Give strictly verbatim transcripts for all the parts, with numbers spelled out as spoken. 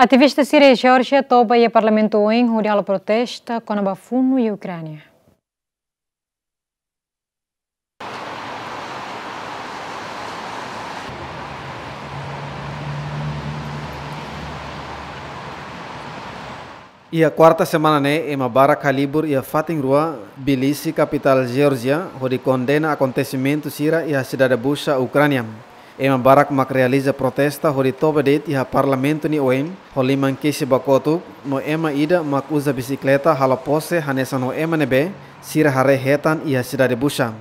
Ativista sira iha Geórjia toba iha parlamentu oin hodi halo protesta kona-ba funu iha Ukránia. Iha kuarta semana ne'e, ema barak halibur iha fatin rua Tbilisi, kapitál Geórjia, hodi kondena akontesimentu sira iha sidade Bucha, Ukránia. Ema barak mak realiza protesta hodi toba de'it iha parlamentu nia oin, ho liman kesi ba kotuk, no ema ida mak uza bisikleta halo pose hanesan ho ema ne'ebé sira haree hetan iha sidade Bucha.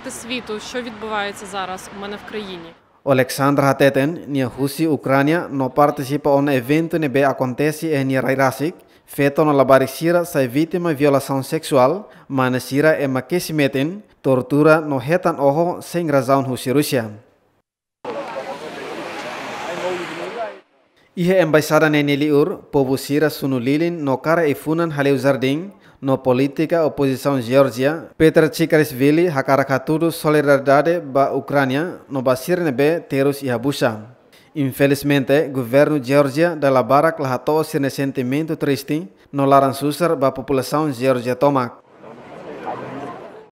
Світу, що відбувається зараз у мене в країні. Oleksandra hateten, nia husi Ukránia no partisipa ona eventu ne'ebé akontese iha nia rai rasik, feto no labarik sira sai vítima violasaun seksuál, mane sira ema kesi metin, tortura no hetan oho sein razaun husi Rúsia. Iha embaixada ne'e nia liur, povu sira sunu lilin no kara ai-funan haleu jardín, no polítika opozisaun Geórjia, Petr Tsikharishvili, hakarak hatudu solidariedade ba Ukránia no ba sira ne'ebé terus iha Bucha. Infelizmente, governu Geórjia dala barak la hato'o sira-nia sentimentu triste no laran susar ba populasaun Geórjia tomak.